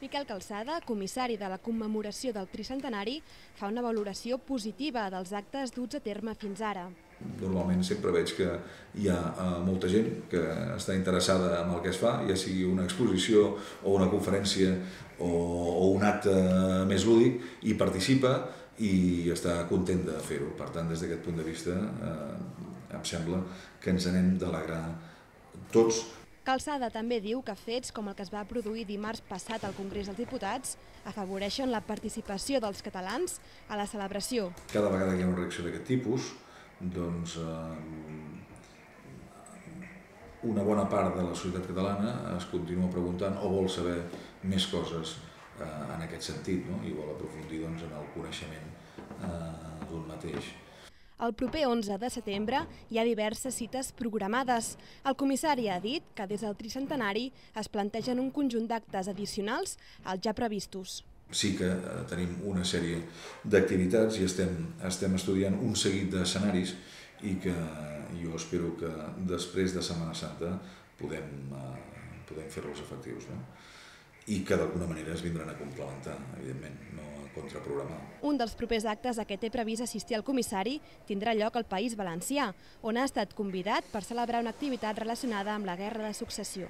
Miquel Calçada, comissari de la commemoració del tricentenari, fa una valoració positiva dels actes duts a terme fins ara. Normalment sempre veig que hi ha molta gent que està interessada en el que es fa, ja sigui una exposició o una conferència o un acte més lúdic, i participa i està content de fer-ho. Per tant, des d'aquest punt de vista, em sembla que ens n'hem d'alegrar tots. Calçada també diu que fets com el que es va produir dimarts passat al Congrés dels Diputats afavoreixen la participació dels catalans a la celebració. Cada vegada que hi ha una reacció d'aquest tipus, doncs una bona part de la societat catalana es continua preguntant o vol saber més coses en aquest sentit, no? I vol aprofundir en el coneixement d'un mateix. El proper 11 de setembre hi ha diverses cites programades. El comissari ha dit que des del tricentenari es plantegen un conjunt d'actes addicionals als ja previstos. Sí que tenim una sèrie d'activitats i estem estudiant un seguit d'escenaris i que jo espero que després de Setmana Santa podem fer-los efectius, no? I que d'alguna manera es vindran a complementar, evidentment, no a contraprogramar. Un dels propers actes a què té previst assistir el comissari tindrà lloc al País Valencià, on ha estat convidat per celebrar una activitat relacionada amb la Guerra de Successió.